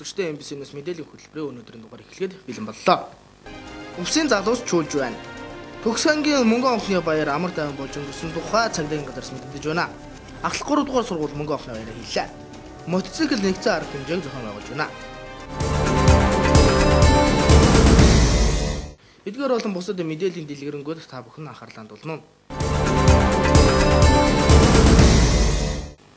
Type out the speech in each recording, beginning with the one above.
үзэгчтэй MBC-ээс мэдээллийн хөтөлбөрийн өнөөдрийн дугаар эхлэхэд бэлэн боллоо. Өвсийн залуус чуулж байна. Төгсөнгийн мөнгөн онхны баяр амар тайван болж өнгөрсөн тухай цагдаагийн газраас мэдэгдэж байна. Ахлах 3 дугаар сургууль мөнгөн онхны баяраа хийлээ. Мотоцикл нэгцэн арга хэмжээг зохион байгуулж байна. Эдгээр болон бусад мэдээллийн дэлгэрэнгүй та бүхэн анхаарлаа хандуулна.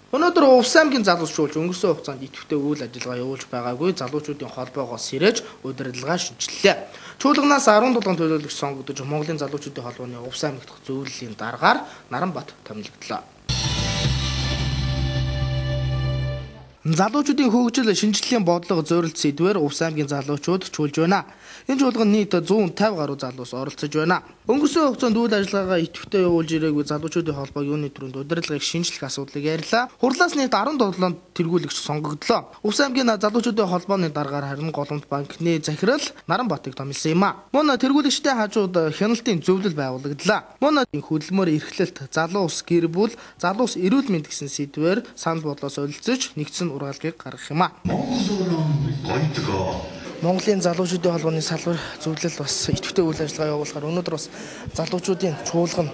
Өнөөдөр Увс аймгийн залуус чуулж өнгөрсөн хугацаанд идэвхтэй үйл ажиллагаа явуулж байгаагүй залуучуудын холбоогоос сэрэж удирдлагаа шинжиллээ. Чуулганаас 17 төлөөлөгч сонгогдож Монголын залуучуудын холбооны Увс аймагт зөвлөлийн дараагаар Наранбат томилогдлоо. Залуучуудын хөгжил шинжилгээний бодлого зорилт сэдвээр Увс аймгийн залуучууд чуулж байна. Энэ чуулганд нийт 150 гаруй залуус оролцож байна. Өнгөрсөн хугацаанд үйл ажиллагаагаа идэвхтэй явуулж ирээгүй залуучуудын холбоог юуны төрөнд удирдлагыг шинжлэх асуудлыг ярьлаа. Хурлаас нийт 17 тэргүүлэгч сонгогдлоо. Увс аймгийн залуучуудын холбооны дараагаар харин Голомт банкны захирал Наранбатыг томилсон юм а. Мөн тэргүүлэгчтэй хажууд хяналтын зөвлөл байгуулагдлаа. Мөн хөдөлмөр эрхлэлт, залуус гэр бүл, залуус эрүүл мэнд гэсэн сэдвээр санал бодлоо солилцож нэгдсэн ургаалгыг гаргах юм а. Монголын залуучуудын холбооны салбар зөвлөл бас идэвхтэй үйл ажиллагаа явуулахаар өнөөдөр бас залуучуудын чуулган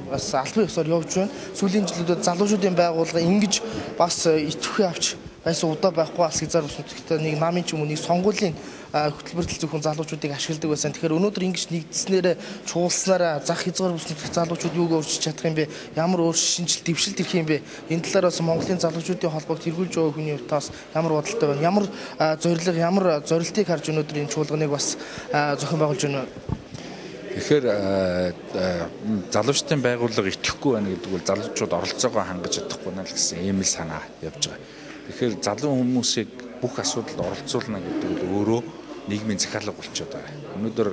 бас албан ёсоор явж байна. Сүүлийн жилүүдэд залуучуудын байгууллага ингэж бас идэвхтэй авч байсан удаа байхгүй бас хязгаар бүсгүйтэй нэг намын ч юм уу нэг сонгуулийн хөтөлбөртөл зөвхөн залуучуудыг ашигладаг байсан. Тэгэхээр өнөөдөр ингэж нэгдснээр чуулснараа зах хязгаар бүсгүйтэй залуучууд юуг өөрчилж чадах юм бэ? Ямар өөрчлөлт дэвшилт ирэх юм бэ? Энэ талаар бас Монголын залуучуудын холбоог тэргүүлж байгаа хүний хувьдаас ямар бодолтой байна? Ямар зорилго, ямар зорилтыг харж өнөөдөр энэ чуулганыг бас зохион байгуулж байна вэ? Тэгэхээр залуучдын байгууллага итгэхгүй байна гэдэг бол залуучууд оролцоогоо хангаж чадахгүй наа л гэсэн ийм л санаа явж байгаа. Тэгэхээр залуу хүмүүсийг бүх асуудалд оролцуулна гэдэг нь өөрөө нийгмийн захиалга болчиход байгаа. Өнөөдөр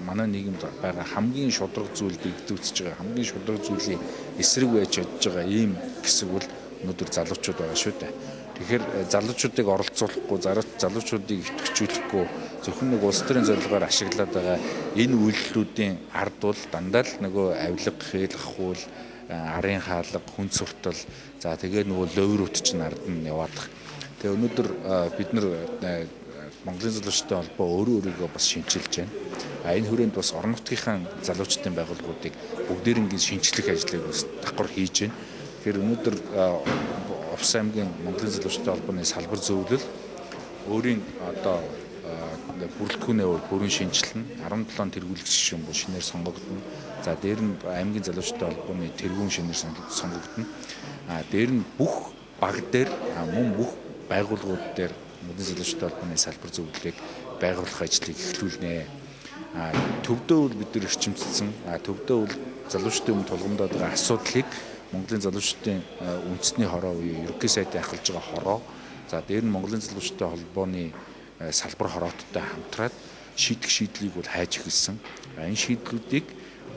манай нийгэмд байгаа хамгийн шудраг зүйлд игдүүцэж байгаа, хамгийн шудраг зүйлийн эсрэг байж чадж байгаа ийм хэсэг бол өнөөдөр залуучууд байгаа шүү дээ. Тэгэхээр залуучуудыг оролцуулахгүй, залуучуудыг идэвхжүүлэхгүй зөвхөн нэг улс төрийн зорилгоор ашиглаад байгаа энэ үйлдэлүүдийн ард бол дандаа л нөгөө авилга, хэл хахуул, арын хаалга, хүн суртал, за тэгээ нөгөө ловрууд чинь ард нь яваад байгаа. Тэгээ өнөөдөр бид нар Монголын залуучуудын холбоо өөрийгөө бас шинчилж байна. Энэ хүрээнд бас орон нутгийнхаа залуучдын байгууллагуудыг бүгдээрингийн шинчлэх ажлыг бас давхар хийж байна. Тэгэхээр өнөөдөр Увс аймгийн Монголын залуучдын холбооны салбар зөвлөл өөрийн одоо бүрэлдэхүүнээ бүрэн шинжилнэ. 17 тэргүүлэгч шин бол шинээр сонгогдно. За дээр нь аймгийн залуучдын холбооны тэргүүн шинээр сонгогдно. Дээр нь бүх баг дээр мөн бүх байгууллагууд дээр Монголын залуучдын холбооны салбар зөвлөлийг байгуулах ажлыг эхлүүлнэ. Төвдөө бол бид нар эрчимцсэн. Төвдөө бол залуучдын өмнө тулгамдаад байгаа асуудлыг Монголын залуучдын үндэсний хороо буюу ерөнхий сайдын ахалж байгаа хороо. За дээр нь Монголын залуучдын холбооны салбар хорооттой хамтраад шийдэх шийдлийг бол хайж эхэлсэн. Энэ шийдлүүдийг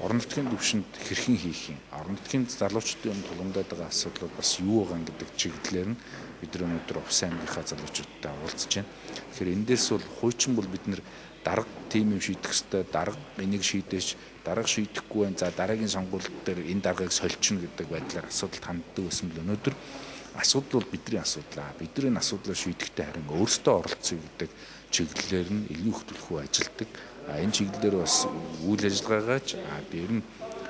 орон нутгийн түвшинд хэрхэн хийх юм? Орон нутгийн залуучдын өмнө тулгамдаад байгаа асуудлууд бас юу байгаа гэдэг чиглэлээр нь бид нар өнөөдөр Увс аймгийнхаа залуучуудтай уулзж байна. Тэгэхээр энэ дээрс бол хуучин бол бид нар дарга тим юм шийдэх ёстой, дарга энийг шийдэж, дарга шийдэхгүй байна. За дараагийн сонгуульд дээр энэ даргаыг сольчихно гэдэг байдлаар асуудалд ханддаг байсан бол өнөөдөр асуудал бол бидний асуудал. Бид нар энэ асуудлаа шийдэхдээ харин өөрсдөө оролцъё гэдэг чиглэлээр нь илүү их төлөвлөгөө ажилтдаг. Энэ чиглэлээр бас үйл ажиллагаагааж дээр нь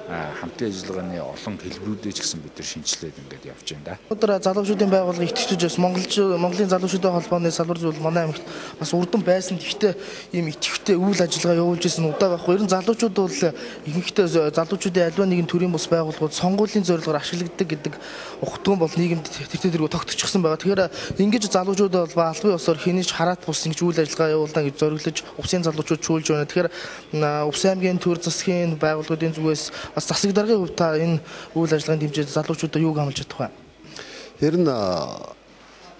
хамтын ажиллагааны олон хэлбэрүүдээ ч гэсэн бид нар шинжилээд ингээд явж байна да. Өнөөдөр залуучуудын байгууллага итгэж бас Монголын залуучуудын холбооны салбар зөвлөл манай аймагт бас урдан байсан. Гэхдээ ийм итгэвчтэй үйл ажиллагаа явуулж ирсэн удаа байхгүй. Ер нь залуучууд бол ихэнхдээ залуучуудын альва нэгэн төрлийн бус байгууллагууд сонгуулийн зорилгоор ашигладаг гэдэг ухтган бол нийгэмд тэртээ тогтчихсон байгаа. Тэгэхээр ингэж залуучууд бол албан ёсоор хэнийч хараат бус ингэж үйл ажиллагаа явуулна гэж зориглож Увсын залуучууд чуулж байна. Тэгэхээр Увс аймгийн төр засгийн байгууллагуудын зүгээс засаг даргын хувьд та энэ үйл ажиллагааны дэмжиж залуучуудаа юуг хамлж чадах вэ? Ер нь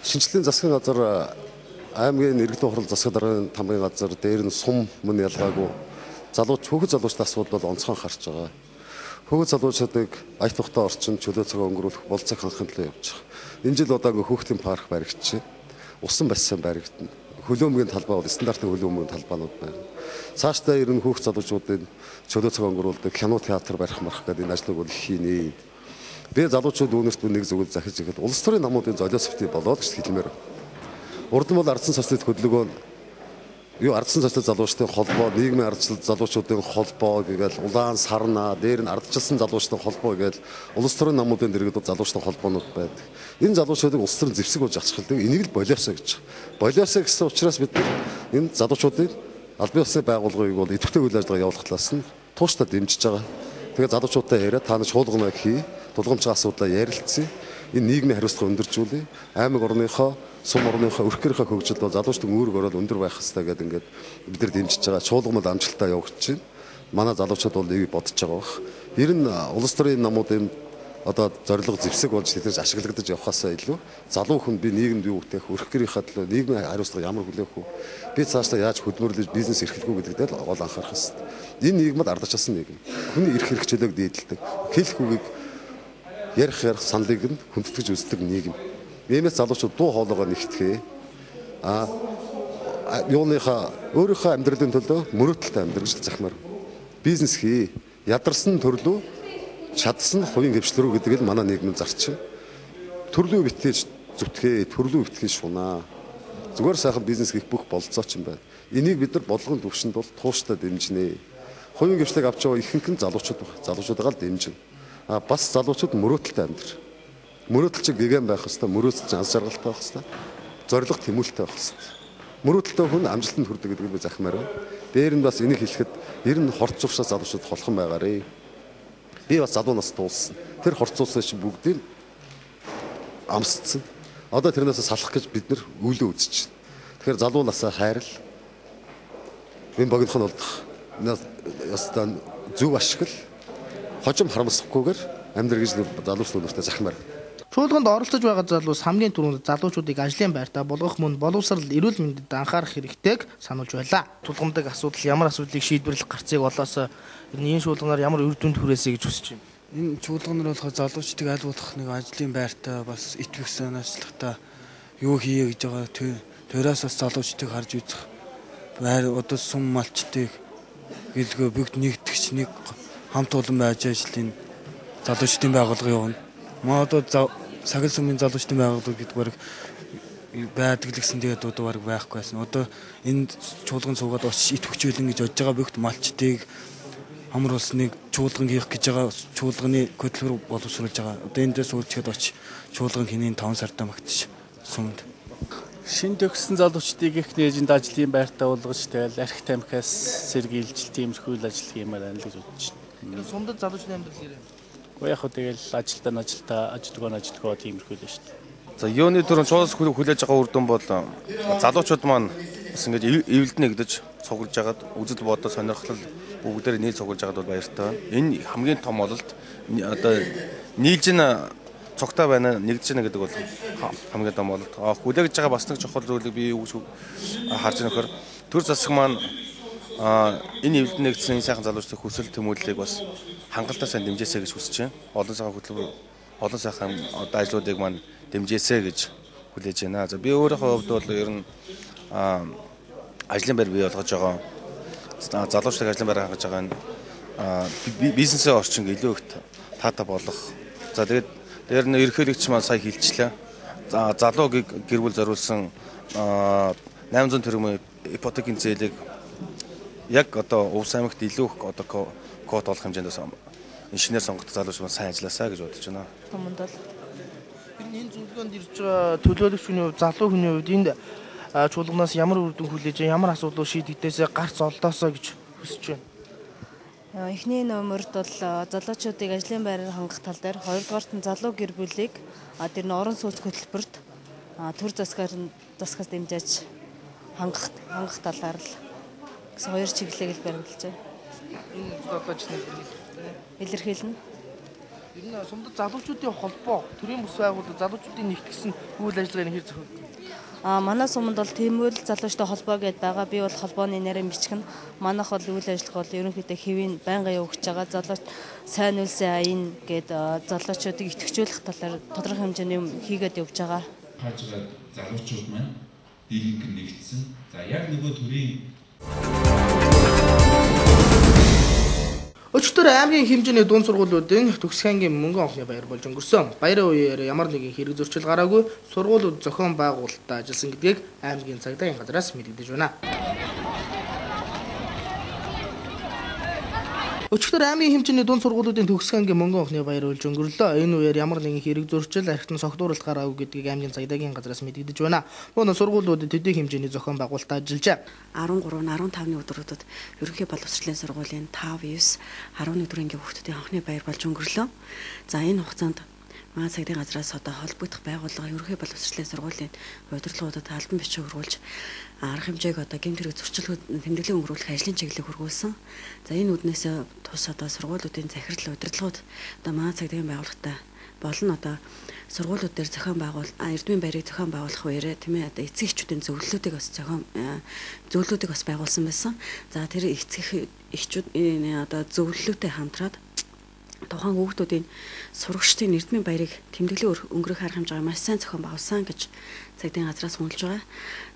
шинжлэлийн засгийн газар аймгийн иргэдийн хурал засаг даргын тамгын газар дээр нь сум мөн ялгаагүй хүүхэд залуучдын асуудал бол онцгой харж байгаа. Хүүхэд залуучдыг ая тухтай орчин чөлөө цагаа өнгөрүүлэх болцог хангахын төлөө явж байгаа. Энэ жил удаагүй хүүхдийн парк баригдчихэ. Усан бассейн баригдана. Хөлөөмгийн талбай бол стандартын хөлөөмгийн талбаанууд байна. Цаашдаа ирнэ хүүхэд залуучуудын чөлөө цаг өнгөрүүлдэг кино театр барих гэдэг энэ ажлыг бол хийнэ. Би залуучууд үүнэрт нэг зөвлөл захиж ихэд улс төрийн намуудын золиосфти болоод гэж хэлмээр. Урд нь бол ардсан социалист хөдөлгөөн юу ардсан социалист залуучдын холбоо, нийгмийн ардчлал залуучуудын холбоо гээл улаан сарна, дээр нь ардчилсан залуучдын холбоо гээл улс төрийн намуудын дэргэд залуучдын холбоонууд байдаг. Энэ залуучуудыг улс төрийн зэвсэг болж ачхалдаг. Энийг л болиосоо гэж. Болиосоо гэсэн учраас бид энэ залуучуудыг аль бие усны байгууллагыг бол идэвхтэй үйл ажиллагаа явуулах талаас нь тууштай дэмжиж байгаа. Тэгээд залуучуудаа яриа та нар шуулгана хий, тулгамчийн асуудлаа ярилцъя. Энэ нийгмийн хариуцлага өндөржүүлээ. Аймаг орныхоо, сум орныхоо өрхгөрийнхөө хөгжилд бол залуучдын үүрэг орол өндөр байх хэрэгтэй гэдэг ингээд бид нар дэмжиж байгаа. Шуулгамд амжилттай явагдаж байна. Манай залуучууд бол энийг бодож байгаа бах. Ер нь улс төрийн намуудын одоо зорилго зэвсэг болж тэднээс ашиглагдаж явхаасаа илүү залуу хүн би нийгэмд юу үтэх, өрхгөрийнхаа төлөө нийгмийн хариуцлага ямар хүлээх вэ? Би цаашдаа яаж хөдөлмөрлөж бизнес эрхлэх үү гэдэгт л гол анхаарах хэрэгтэй. Энэ нийгмэд ардчилсан нийгэм. Хүний эрх хэрэгчлөөг дээдэлдэг. Хэлэх үгийг ярих саналыг нь хүндэтгэж үздэг нийгэм. Иймээс залуучууд дуу хоолойгоо нэгтгэе. Юуныхаа өөрийнхөө амьдралын төлөө мөрөөдөлтэй амьдрах захимаар бизнес хий. Ядарсан төрлөө чадсан хувийн хвшлэр гэдэг нь манай нийгмийн зарчим. Төрлөө битгээж зүтгэе, төрлөө битгээж шунаа. Зүгээр сайхан бизнес хийх бүх болцооч юм байна. Энийг бид нар бодлогын төвшөнд бол тууштай дэмжинэ. Хувийн хвшлийг авч байгаа ихэнх нь залуучуудаа л дэмжинэ. Бас залуучууд мөрөөдөлтэй амьдрах. Мөрөөдөл чинь гэгэн байх хэвээр, мөрөөдөл чинь аз жаргалтай байх хэвээр, зориг тэмүүлэлтэй байх хэвээр. Мөрөөдөлтэй хүн амжилтанд хүрдэг гэдэг би захимаар байна. Дээр нь бас энийг хэлэхэд ер нь хорц зуршаас залуучууд холхон байгаарэ. Би бас залуу нас дууссан. Тэр хорцуулсан чинь бүгдийг амсцсан. Одоо тэрнээс салах гэж бид нар үйлөө үзэж байна. Тэгэхээр залуу насаа хайрал. Энэ богинох нь болдох. Ястан зөв ашигла. Хожим харамсахгүйгээр амьдрал гэж залуучуудтай захимаар. Шуулганд оролцож байгаа залуус хамгийн түрүүнд залуучуудыг ажлын байртаа болгох мөн боловсрал эрүүл мэндэд анхаарах хэрэгтэйг сануулж байлаа. Тулгамдаг асуудал ямар асуудлыг шийдвэрлэх гарцыг олоосоо энэ шуулганаар ямар үр дүнд хүрээсэй гэж хүсэж байна. Энэ шуулганаар болохоор залуучдыг аль болох нэг ажлын байртаа бас итгэх санаачлагтай юу хийе гэж байгаа тэрээс бас залуучдыг харж үзэх байр одоо сум малчдыг гэлгөө бүгд нэгтгэж нэг хамт олон байж ажлын залуучдын байгууллага явна. Маа одоо сагил сумын залуучдын байгууллага гэдэг баг байдаг л гэсэн тэгээд одоо баг байхгүй байсан. Одоо энэ чуулган суугаад очиж ит хүчээлэн гэж бодож байгаа бүгд малчдыг амар улсныг чуулган хийх гэж байгаа чуулганы хөтөлбөр боловсруулж байгаа. Одоо энд дээр суулжгээд очиж чуулган хинийн 5 сартаа магтчих сумд. Шин төгссөн залуучдыг их нээжинд ажлын байртаа уулгаж тэгэл архи тамхиас сэргийлж тиймэрхүү ажил хиймээр байна л гэж бодож байна. Сумдад залуучны амьдрал ирээ. Яг хөө тэгэл ажилтгаа тиймэрхүү л шүү дээ. За юуны төрөн чуулгаас хүлээж байгаа үр дүн бол залуучууд маань бас ингэж эвлэлд нэгдэж цуглаж агаад үзэл бодол сонирхол бүгдээр нийл цуглаж агаад бол баяртай байна. Энэ хамгийн том ололт одоо нийлж ин цогтой байна нэгдэж байна гэдэг бол хамгийн том ололт. Хүлээж байгаа бас нэг чухал зүйлийг би юу гэж харж байгаа нөхөр төр засаг маань энэ эвлэлд нэгдсэн сайхан залуучдын хүсэл тэмүүллийг бас хангалттай сайн дэмжээсэй гэж хүсэж байна. Олон сайхан хөтөлбөр, олон сайхан одоо ажлуудыг маань дэмжээсэй гэж хүлээж байна. За би өөрийнхөө хувьд бол ер нь ажлын байр бий болгож байгаа. Залуучдыг ажлын байр хангаж байгаа нь бизнесийн орчин илүү их таатай болох. За тэгээд дээр нь ерөнхийлөгч маань сая хэлчихлээ. За залуу гэр бүл зориулсан 800 төгрөгийн ипотекийн зээлийг яг одоо Увс аймагт илүү их одоо код олох хэмжээнд инженер сонгогдсон залууч маань сайн ажилласаа гэж бодож байна. Томонд бол энэ зөвлөгөөнд ирж байгаа төлөөлөгч хүний хувьд залуу хүний хувьд энд чуулганаас ямар үр дүн хүлээж ямар асуудлыг шийдэгдээсээ гарц олдоосоо гэж хүсэж байна. Эхний номерд бол залуучуудыг ажлын байраар хангах тал дээр, хоёрдугаарт нь залуу гэр бүлийг тэр нь орон сууц хөтөлбөрт төр засгаас дэмжиж хангах талаар л гэсэн хоёр чиглэлийг л баримлаж байна. Энэ одооч нэг илэрхийлнэ. Ер нь сумдад залуучуудын холбоо, төрийн бүс байгууллага залуучуудын нэгтгэсэн үйл ажиллагааны хэр зохиогдсон. Манай суманд бол Тэмүүлэл залуучтай холбоо гэдээ байгаа. Би бол холбооны нэрээр бичгэн. Манайх бол үйл ажиллагаа бол ерөнхийдөө хэвийн байнга явуулж байгаа. Залууч сайн үлсэн аян гэд залуучуудыг итгэжүүлэх талаар тодорхой хэмжээний юм хийгээд явж байгаа. Хаажгаад залуучууд маань дийлэнх нэгдсэн. За яг нөгөө төрийн Өчигдөр аймгийн хэмжээний дунд сургуулиудын төгсөх ангийн мөнгөн авахны баяр болж өнгөрсөн. Баярын үеэр ямар нэгэн хэрэг зөрчил гараагүй сургуулиуд зохион байгуулалтад ажилласан гэдгийг аймгийн цагдаагийн газраас мэдэгдэж байна. Өчигдөр аймгийн хэмжээний дунд сургуулиудын төгсөх ангийн мөнгөн авахны баяр болж өнгөрлөө. Энэ үеэр ямар нэгэн хэрэг зөрчил архитан согтууралт гараагүй гэдгийг аймгийн цагдаагийн газраас мэдэгдэж байна. Мөн сургуулиудад төдий хэмжээний зохион байгуулалтад ажиллажээ. 13-15-ны өдрүүдэд ерөнхий боловсролын сургуулийн 5, 9, 11 дуурын ангийн хүүхдүүдийн анхны баяр болж өнгөрлөө. За энэ хугацаанд манай цагдаагийн газраас одоо холбогдох байгууллага ерөнхий боловсролын сургуулийн удирдлагуудад албан бичиг хөрвүүлж арга хэмжээг одоо гэмт хэрэг зөрчилгүүд тэмдэглэн өнгөрүүлэх ажлын чиглэлийг хөргүүлсэн. За энэ үднээс тус одоо сургуулиудын захирал удирдлагууд одоо манай цагдаагийн байгууллагатай болон одоо сургуулиуд дээр зохион байгуул эрдмийн баярыг зохион байгуулах үеэрээ тийм ээ одоо эцэг эхчүүдийн зөвлөлүүдийг бас байгуулсан байсан. За тэр эцэг эхчүүд одоо зөвлөлөөтэй хамтраад тухайн хүүхдүүдийн сурагчдын эрдмийн баярыг тэмдэглэн өнгөрөх арга хэмжээг маш сайн зохион байгуулсан гэж цагдаагийн газраас үнэлж байгаа.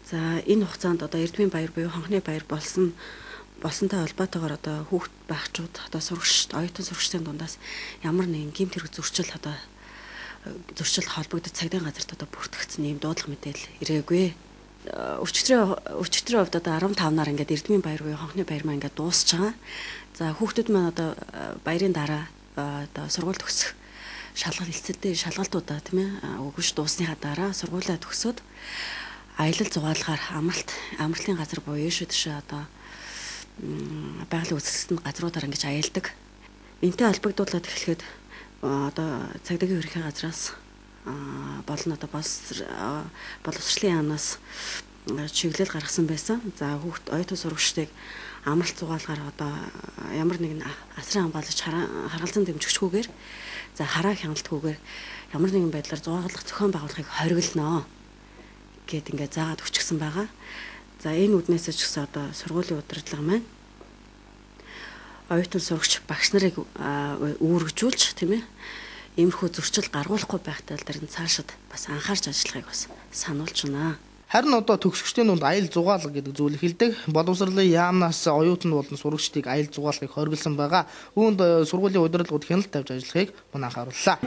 За энэ хугацаанд одоо эрдмийн баяр буюу хонхны баяр болсонтой холбоотойгоор одоо хүүхд багчууд одоо сурагчид оюутан сурагчдын дундаас ямар нэгэн гэмт хэрэг зөрчил холбогдож цагдаагийн газарт одоо бүртгэгдсэн ийм дуудлага мэдээлэл ирээгүй. Өчигдрийн хувьд одоо 15-наар ингээд эрдмийн баяр буюу хонхны баяр маань ингээд дуусч байгаа. За хүүхдүүд маань одоо баярын дараа одоо сургууль төгсөх шалгалтуудаа тийм ээ өгөж дуусныхаа дараа сургуулаа төгсөөд аялал зугаалгаар амралтын газар буюу шүдшээ одоо байгалийн үзэсгэлэнт газруудаар ингэж аялдаг. Энтэй холбогдуулаад эхлэхэд одоо цагдаагийн ерөнхий газраас болон одоо боловсролын яамнаас чиглэл гаргасан байсан. За хүүхд оюутан сурагчдыг амралт зугаалгаар одоо ямар нэгэн асран хамгаалж харгалзан дэмжигчгүйгээр за хараа хяналтгүйгээр ямар нэгэн байдлаар зугаалгах зохион байгуулахыг хориглоно гэд ингээд заагаад өчгсөн байгаа. За энэ үднээс ч гэсэн одоо сургуулийн удирдлага маань оюутан сурагч багш нарыг үүргэжүүлж тийм ээ иймэрхүү зөрчил гаргуулахгүй байх тал дээр нь цаашид бас анхаарч ажиллахыг бас сануулж байна. Харин одоо төгсөгчдийн дунд аял зугаалга гэдэг зүйл хэлдэг. Боловсролын яамнаас оюутан болон сурагчдыг аял зугаалгахыг хориглосон байгаа. Үүнд сургуулийн удирдлагууд хяналт тавьж ажиллахыг мөн анхаарууллаа.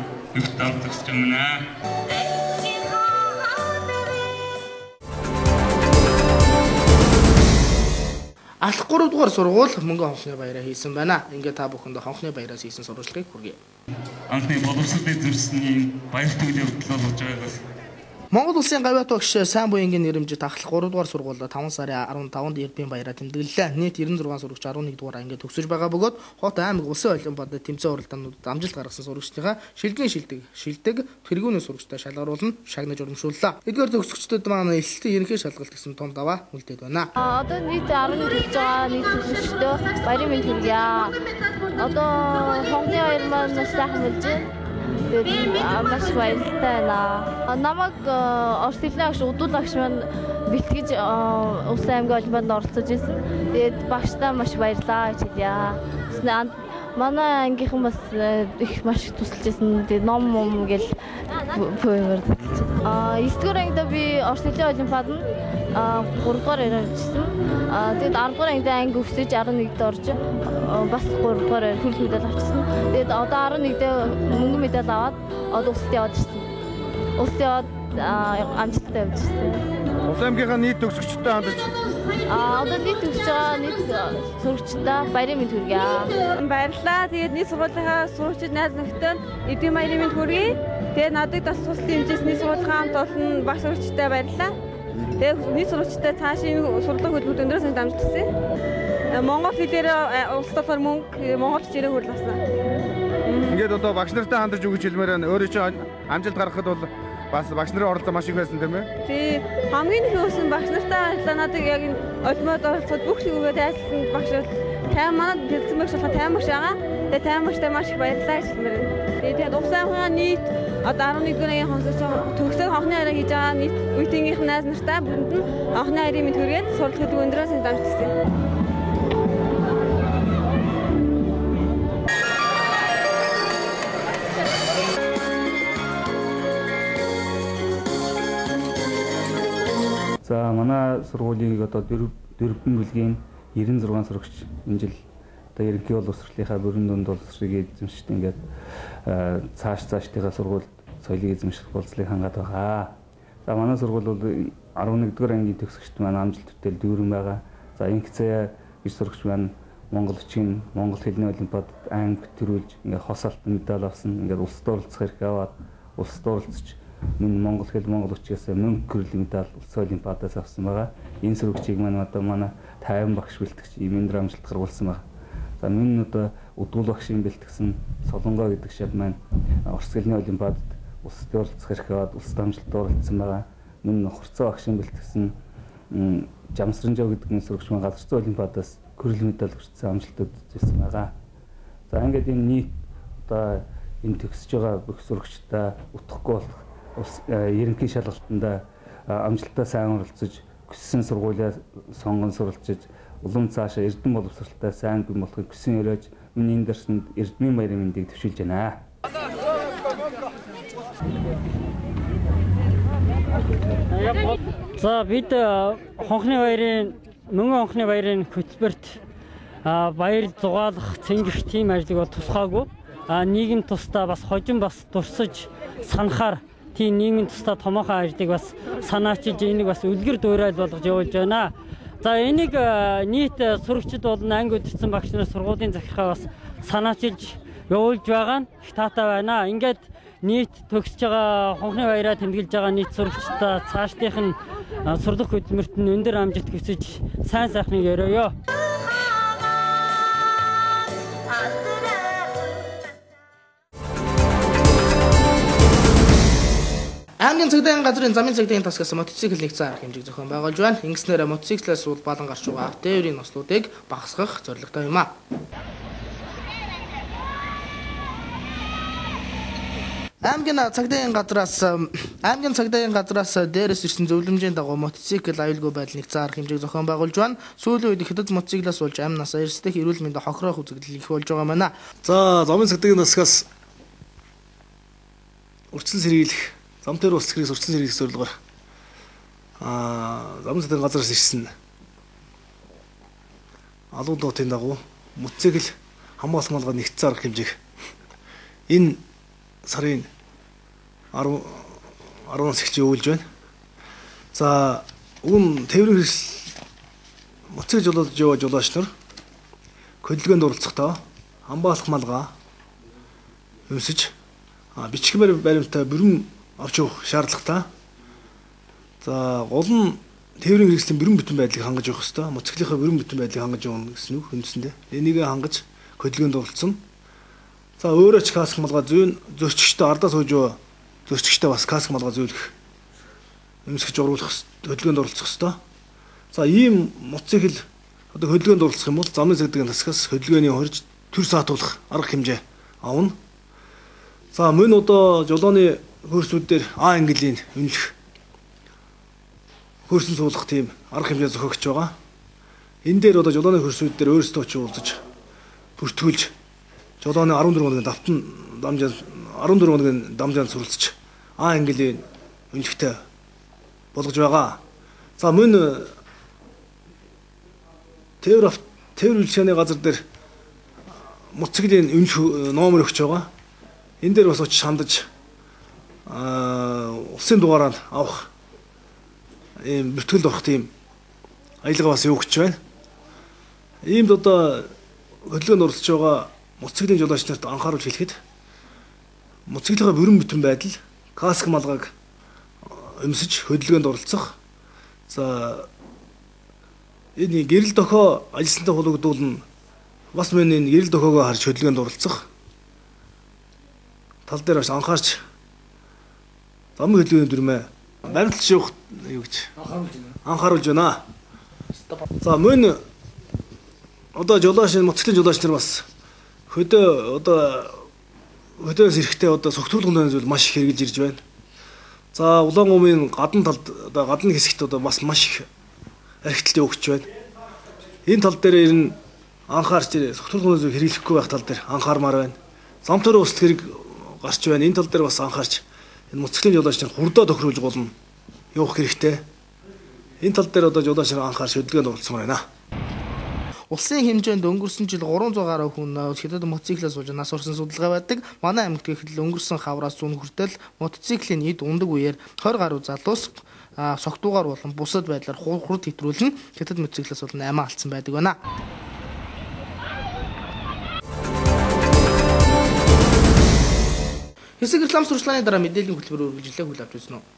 Алх 3 дугаар сургууль мөнгөн хонхны баяраа хийсэн байна. Ингээд та бүхэнд хонхны баяраас хийсэн сурвалжлагыг хүргэе. Анхны боловсролын зөрчсөний баяр хөдөлгөөний хөтөлбөр болж байгаагаас Монгол Улсын гавьяат багш сайн буянгийн нэрэмжит Ахлах 3 дугаар сургуульд 5 сарын 15-нд эрдмийн баяраа тэмдэглэлээ. Нийт 96 сурагч 11 дугаар ангид төгсөж байгаа бөгөөд хот аймаг улсын олимпиад тэмцээн уралдаануудад амжилт гаргасан сурагчдынхаа шилдэг тэргүүний сурагчтай шалгаруулан шагнаж урамшууллаа. Эдгээр төгсөгчдүүд маань элэлтийн ерөнхий шалгалт гэсэн том даваа үлдээд байна. Одоо нийт 11 төгсөж байгаа нийт төгсөгчдөө баярын мэнд хүргье. Одоо хонхны баяр маань маш сайхан болж байна. Маш баяртай байна. Намайг орос хэлний агш удуулагч маань бэлтгэж улсын аймгийн олимпиадад оролцож ирсэн. Тэгээд багштай маш баярлаа гэж хэлье. Манай ангийнхан бас их маш тусалж ирсэн. Тэгээд ном гэл пүүмэр. 9-р ангид би орос хэлний олимпиадад 3-р ирсэн. Тэгээд 10-р ангид анги өсөж 11-д орж бас 3-р хөрөл медаль авчихсан. Тэгээд одоо 11-д мөнгөн медаль аваад одоо улсад яваад ирсэн. Улсад яваад амжилттай явж ирсэн. Улсын аймгийнхаа нийт төгсөгчтэй хандаж одоо нийт төгсөж байгаа нийт сурагчдаа баярын мэнд хүргье. Баярлалаа. Тэгээд нийт сургуулийнхаа сурагчид найз нөхдөд эдийн баярын мэнд хүргэе. Тэгээд надад бас тус дэмжсэний сургуулийн хамт олон багш сурагчтай баярлалаа. Тэгээд нийт сурагчтай цаашийн сургуулийн хөтөлбөрт өндөр сан дамжуулж ирсэн. Монгол хэлээр улс толгойн мөнгө монгол хичээлээр хөрлөсөн. Ингээд одоо багш нартай хандаж өгч хэлмээр өөрөө чи амжилт гаргахад бол бас багш нарын оролцоо маш их байсан тийм ээ? Тий. Хамгийн их өсөн багш нартай ажиллаа надад яг энэ олимпиад оролцоод бүх лигүүгээ тайлсан багш тайм манад дэлсэн багш болохоо тайм багш байгаа. Тэгээ тайм багштай маш их баярлалаа гэж хэлмээр. Тэгээд угсаахаа нийт одоо 11 дуурайгийн хонсоос төгсөө хонхны хараа хийж байгаа нийт үеийнхээ найз нартай бүрэнд нь хонхны харийн мэд хүргээд суралт хөтөлбөр өндрөөс нь дамжуулсан. За манай сургуулийн одоо дөрвөн бүлгийн 96 сурагч энэ жил одоо ерөнхий боловсролынхаа бүрэн дунд боловсрыг эзэмшиж ингээд цаашдынхаа сургуульд соёлыг эзэмших болцлыг хангаад байгаа. За манай сургууль бол 11-р ангийн төгсөгчд маань амжилт төтөл дүүрэн байгаа. За инкцээ гэж сурагч маань Монгол үчгийн Монгол хэлний олимпиадад анги төрүүлж ингээд хос алтан медаль авсан. Ингээд улсад оролцох хэрэг аваад улсад оролцож мөн Монгол хэл Монгол үчгээс мөнгө гэрэл медаль улсын олимпиадаас авсан байгаа. Энэ сурагчийг маань одоо манай 50 багш бэлтгэж имэндөр амжилт гаргуулсан байна. За мөн одоо Өдгөл багшийн бэлтгэсэн Солонгоо гэдэг шат маань Орос хэлний олимпиадад улсад оролцох хэрэг аваад улсад амжилт оролцсон байгаа. Мөн Хурцаа багшийн бэлтгэсэн Жамсранжоо гэдэг нэг сурагч маань газар зүйн олимпиадаас гэрэл медаль хүртсэн амжилтууд үзүүлсэн байгаа. За ингээд энэ нийт одоо энэ төгсөж байгаа бүх сурагчдаа утгахгүй болох ерөнхий шалгалтанд амжилттай сайн оролцож хүссэн сургуулиа сонгон суралцж улам цаашаа эрдэм боловсралтай сайн бий болохыг хүсэн өрөөж миний энэ дарсанд эрдмийн баярын мэндийг төвшүүлж байна. За бид хонхны баярын мөнгөн хонхны баярын хөтөлбөрт баяр зугаалах цэнгэх тийм ажлыг бол тусгаагүй. Нийгэм тусдаа бас хожим бас дурсаж санахаар тийм нийгмийн тусдаа томоохон ажлыг бас санаачилж энийг бас үлгэр дуурайл болгож явуулж байна. За энийг нийт сурагчид болон анги удирдсан багш нар сургуулийн захиргаа бас санаачилж явуулж байгаа нь их таатай байна. Ингээд нийт төгсөж байгаа хонхны баяраа тэмдэглэж байгаа нийт сурагчдаа цаашдынх нь сурлах хөдөлмөрт нь өндөр амжилт хүсэж сайн сайхныг өрөөё. Аймгийн цагдаагийн газрын замын цагдаагийн тасгаас мотоцикл нэгцэн арга хэмжээг зохион байгуулж байна. Ингэснээр мотоциклээс сул балан гарч байгаа автоэрийн нослуудыг багасгах зорилготой юм а. Аймгийн цагдаагийн газраас дээрээс ирсэн зөвлөмжийн дагуу мотоцикл аюулгүй байдал нэгцэн арга хэмжээг зохион байгуулж байна. Сүүлийн үед ихэд мотоциклаас болж амь насаа эрсдэх эрүүл мэндийн хохирох үзэгдэл их болж байгаа маа. За замын цагдаагийн тасгаас урьдчилан сэргийлэх зам дээр улс хэрэг урьдчилан сэргийлэх зорилгоор замын цагдаагийн газраас ирсэн алуун дуутын дагуу мотоцикл хамгаалах малгай нэгцэн арга хэмжээг энэ сарын 10-аас эхэлж явуулж байна. За өгөн тээврийн хэрэгсэл мотоцикл жолоож яваа жолооч нар хөдөлгөөнд оролцохдоо хамгаалах малгай өмсөж бичгмээр баримттай бүрэн авч явах шаардлагатай. За гол нь тээврийн хэрэгслийн бүрэн бүтэн байдлыг хангаж явах хэрэгтэй. Мотоциклийнхаа бүрэн бүтэн байдлыг хангаж явна гэсэн үг үндсэндээ. Энийг хангаж хөдөлгөөнд оролцсон. За өөрөө ч каск малгай зүүн зөрчигчтэй ардаа сууж байгаа зөрчигчтэй бас каск малгай зөөлөх өмсгөж оруулах хөдөлгөөнд оролцох хэрэгтэй. За ийм мотоцикл одоо хөдөлгөөнд оролцох юм бол замын цагдаагийн тасгаас хөдөлгөөний хорж төр саатуулах арга хэмжээ авна. За мөн одоо жолооны хөрсүүд дээр А английн үнэлэх хөрсөн суулгах тийм арга хэмжээ зохиогч байгаа. Энэ дээр одоо жолооны хөрсүүд дээр өөрсдөө ч уулзаж бүртгүүлж жолооны 14 хоногийн дамжаанд суралцж А английн үнэлэхтэй болгож байгаа. За мөн тээвэр үйлчилгээний газар дээр мотоциклийн үнэлэх номер өгч байгаа. Энэ дээр бас очиж хандаж улсын дугаараар авах ийм бүртгэлд орох тийм аялга бас өгч байна. Иймд одоо хөдөлгөөнд оролцож байгаа мотоциклийн жолооч нарт анхааруулж хэлэхэд мотоциклийнхаа бүрэн бүтэн байдал, каск малгайг өмсөж хөдөлгөөнд оролцох. За энэ гэрэл дохио ажилсантай хулгадуулна. Бас мөн энэ гэрэл дохиогоо харж хөдөлгөөнд оролцох. Тал дээр бас анхаарч замын хөдөлгөөний дүрмээ баримтлж явах юу гэж анхааруулж байна. За мөн одоо мотоциклын жолооч нар бас хөдөөс эрэхтэй одоо согтуулгын зүйл маш их хэрэгжилж ирж байна. За улаан гумын гадна талд одоо гадны хэсэгт одоо бас маш их архитэлт өгч байна. Энэ тал дээр ер нь анхаарч согтуулгын зүйл хэрэглэхгүй байх тал дээр анхаармаар байна. Зам төрөө устд хэрэг гарч байна. Энэ тал дээр бас анхаарч энэ мотоциклийн жолооч нар хурдаа тохируулж болно явах хэрэгтэй. Энэ тал дээр одоо жолооч нар анхаарч хөдөлгөөнд оролцмоор байна. Улсын хэмжээнд өнгөрсөн жил 300 гаруй хүн хятад мотоциклээс сууж нас орсон судалгаа байдаг. Манай аймагт гэхэд өнгөрсөн хавраас зүүн хүртэл мотоциклийн эд ундаг үеэр 20 гаруй залуус согтуугаар болон бусад байдлаар хурд хэтрүүлэн хятад мотоциклээс бол 8 алдсан байдаг байна. Хэсэг реклам сурчлагын дараа мэдээллийн хөтөлбөр үргэлжлүүлээ хүлээвч үзсэн үү?